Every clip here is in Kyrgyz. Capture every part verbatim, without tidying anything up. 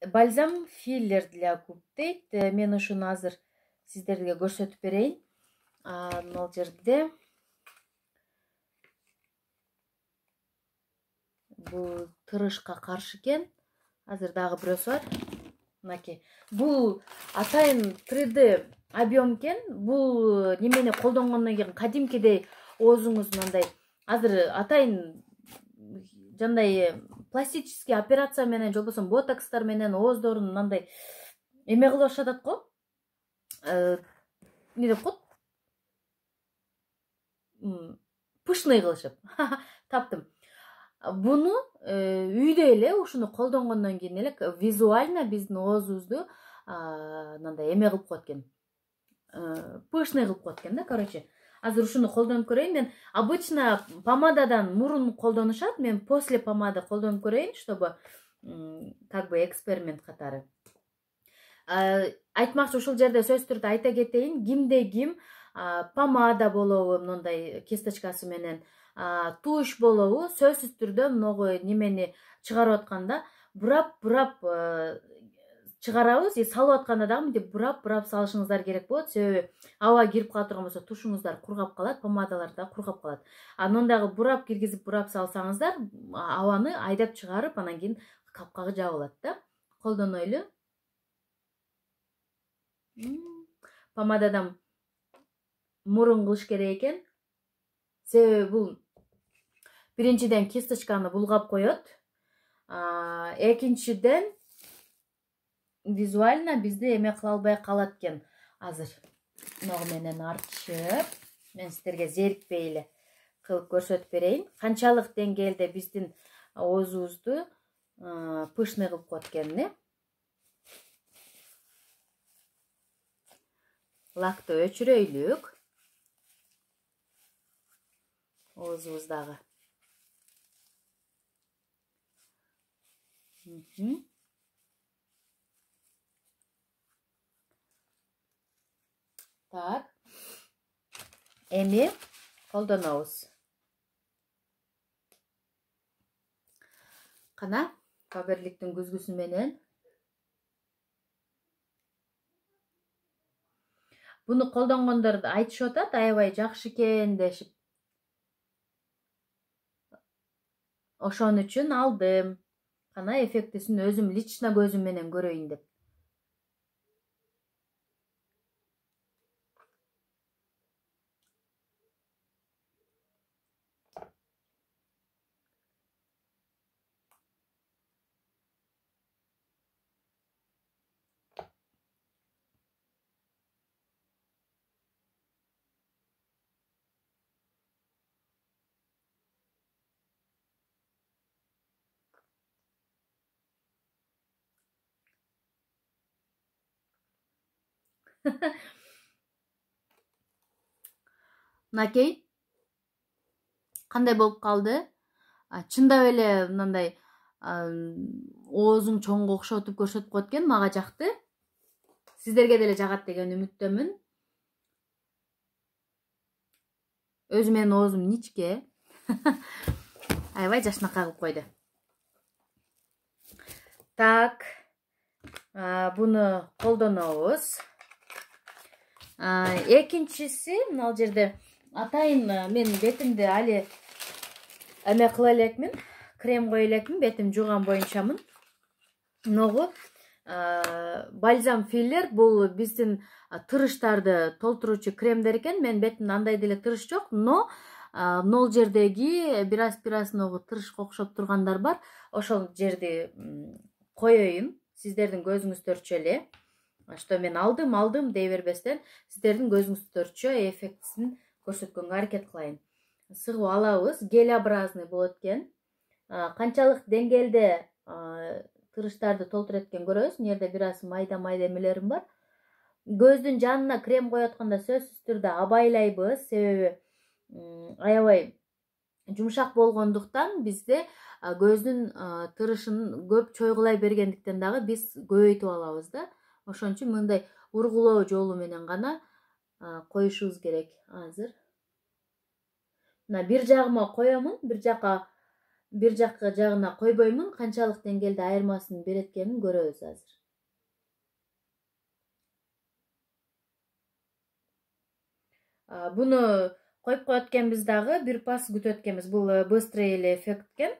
Бальзам филлер для губ дейт. Мен ушуну азыр сиздерге көрсөтүп берейин. Могул жерде бул тырышка каршы экен. Азыр дагы бирөөсү бар. Мынакей. Бул атайын три дэ объем экен. Бул немени колдонгондон кийин кадимкидей оозуңуз мындай азыр атайын жандай пластический операция менен же болбосо ботокстар менен ооздорун мындай эме кылып атат го. Не деп коет? Пышный кылышып. Таптым. Буну үйдө эле ушуну колдонгондон кийин эле визуально биздин оозубузду мындай эме кылып коет экен. Пышный кылып коет экен да, короче. Азыр ушуну колдонуп көрөйүн. Мен обычно помададан мурун колдонушат. Мен после помады колдонуп көрөйүн, чтобы как бы эксперимент катары. Айтмакчы ушул жерде сөзсүз түрдө айта кетейин, кимде ким помада болобу, мындай кисточкасы менен туш болобу, сөзсүз түрдө могу немени чыгарып атканда бурап-бурап чыгарабыз, и салып атканда дагы мынтип бурап-бурап салышыңыздар керек болот. Себеби аба кирип кала турган болсо тушуңуздар кургап калат, помадалар да кургап калат. Анан дагы бурап киргизип бурап салсаңыздар, абаны айдап чыгарып, анан кийин капкагы жабылат да. Колдонойлу. Помададан мурун кылыш керек экен. Себеби бул биринчиден кисточканы булгап коет. Экинчиден визуально бизди эме кыла албай калат экен. Азыр могу менен артышып, мен сиздерге зерикпей эле кылып көрсөтүп берейин. Канчалык деңгээлде биздин оозубузду пышный кылып коет экенин. Лакты өчүрөйлүк. Оозубуздагы. Так. Эми колдонобуз. Кана Фаберликтин күзгүсү менен. Буну колдонгондор айтышып атат, аябай жакшы экен дешип. Ошон үчүн алдым. Кана эффектисин өзүм лично көзүм менен көрөйүн деп. Мынакей кандай болуп калды? Чындап эле мындай оозуң чоңго окшотуп көрсөтүп коет экен, мага жакты. Сиздерге деле жагат деген үмүттөмүн. Өзү менин оозум ничке. Аябай жашнакай кылып койду. Так, буну колдонобуз. Экинчиси, мына жерде атайын мен бетимди али эме кыла элекмин, крем кое элекмин, бетим жууган боюнчамын. Могу бальзам филлер бул биздин тырыштарды толтуруучу кремдер экен. Мен бетимде андай деле тырыш жок, но нол жердеги бир-бир могу тырышка окшоп тургандар бар. Ошол жерди коеюн, сиздердин көзүңүздөрчө эле. Что мен алдым, алдым дей бербестен, сиздердин көзүңүздөрчө эффектисин көрсөткөнгө аракет кылайын. Сыгып алабыз, гелеобразный болот экен. Канчалык деңгээлде тырыштарды толтурат экен көрөбүз. Мына жерде бир аз майда-майда эмелерим бар. Көздүн жанына крем коюп атканда сөзсүз түрдө абайлайбыз, себеби аябай жумшак болгондуктан бизде көздүн тырышын көп чойгулай бергендиктен дагы биз көбөйтүп алабыз да. Ошон үчүн мындай ургулоо жолу менен гана коюшубуз керек. Азыр мына бир жагыма коёмун, бир жака бир жакка жагына койбоймун, канчалык деңгээлде айырмасын берет экенин көрөбүз азыр. Буну коюп коет экенбиз дагы, бир пас күтөт экенбиз. Бул быстрый эле эффект экен.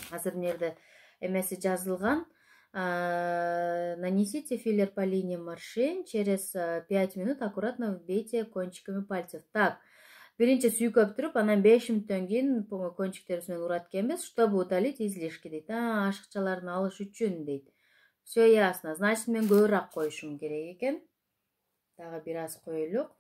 Азыр мына жерде эмеси жазылган. Нанесите филлер по линиям морщин, через пять минут аккуратно вбейте кончиками пальцев. Так, биринчи сүйкөп туруп, анан беш мүнөттөн кийин кончиктерибиз менен урат экенбиз, чтобы удалить излишки дейт. А, ашыкчаларын алыш үчүн дейт. Все ясно. Значит, мен көбүрөөк коюшум керек экен. Дагы бир аз коелук.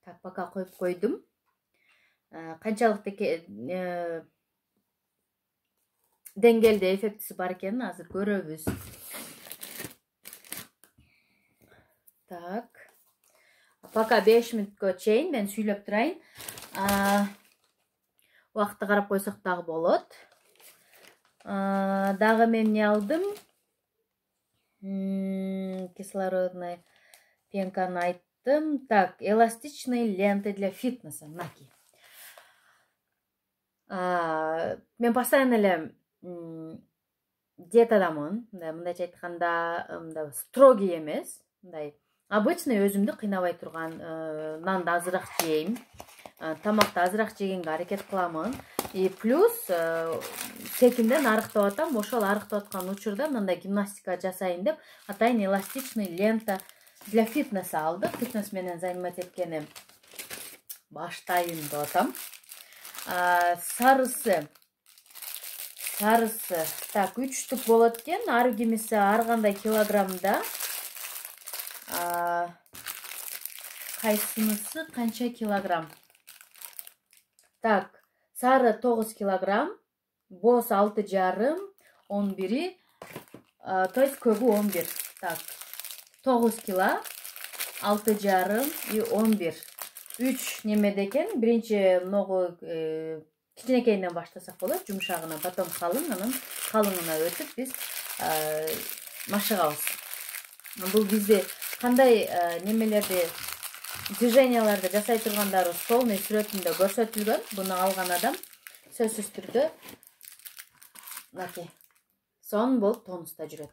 Так, пока коюп койдум. Канчалык деңгээлде эффектиси бар экенин азыр көрөбүз. Так. Пока беш мүнөткө чейин мен сүйлөп турайын. Убакытты карап койсок дагы болот. Дагы мен эмне алдым? Кислородный пенканы айттым. Так, эластичные ленты для фитнеса. Наки. Мен постоянно эле диетадамын. Мындайча айтканда, строгий эмес. Мындай обычный өзүмдү кыйнабай турган нанды азыраак жейм. Тамакты азыраак жегенге аракет кыламын. И плюс секинден арыктап атам. Ошол арыктап аткан учурда мындай гимнастика жасайын деп атайын эластичный лента для фитнеса алдык. Фитнес менен заниматься эткени баштайын деп атам. Сарысы. Сарысы. Так, үч штук болот экен. Ар кимиси ар кандай килограммда. Кайсынысы канча килограмм? Так, сары тогуз килограмм, боз алты жарым, он бири, то есть көбү он бир. Так, тогуз кило, алты жарым и он бир. үч немеде экен. Биринчи ногу кичинекейинен баштасак болот, жумшагынан, потом калың, анан калыңына өтүп биз машыгабыз. Бул бизде кандай немелерди, движенияларды жасай тургандарыбыз полный сүрөтүндө көрсөтүлгөн. Буну алган адам сөзсүз түрдө наки сон болуп тонуста жүрөт.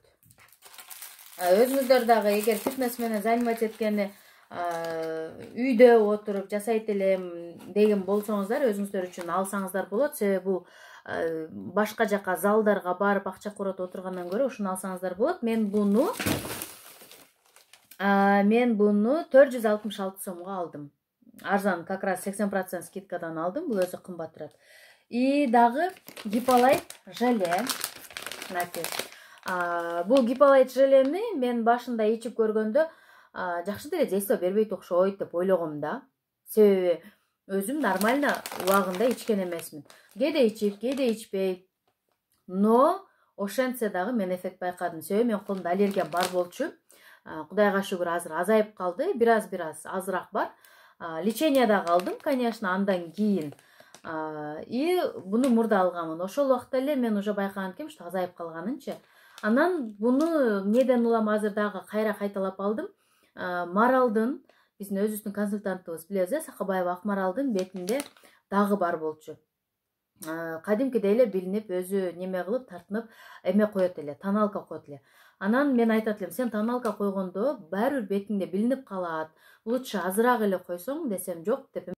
Өзүңүздөр дагы эгер фитнес менен заниматься эткени үйдө отуруп жасайт элем деген болсоңуздар, өзүңүздөр үчүн алсаңыздар болот. Себеби бул башка жака залдарга барып акча курот отургандан көрө ушуну алсаңыздар болот. Мен буну Мен буну төрт жүз алтымыш алты сомго алдым. Арзан, как раз сексен процент скидкадан алдым. Бул өзү кымбат турат. И дагы гиполайт желе. Бул гиполайт желени мен башында ичип көргөндө жакшы деле действие бербейт окшойт деп ойлогом да. Себеби өзүм нормально убагында ичкен эмесмин. Кээде ичип, кээде ичпей. Но ошентсе дагы мен эффект байкадым. Себеби мен колумда аллергия бар болчу. Кудайга шүгүр азыр азайып калды. Бираз-бираз азыраак бар. Лечениеда калдым, конечно, андан кийин. И буну мурда алганмын. Ошол убакта эле мен уже байкаган экенмин, что азайып калганынчы. Анан буну эмнеден улам азыр дагы кайра кайталап алдым. Маралдын, биздин өзүбүздүн консультантыбыз билебиз, Сакабаева Акмаралдын бетинде дагы бар болчу. Кадимкидей эле билинип, өзү неме кылып, тартынып, эме коет эле, тоналка коет эле. Анан мен айтат элем, сен тоналка койгондо баары бир бетиңде билинип калат. Лучше азыраак эле койсоң десем, жок деп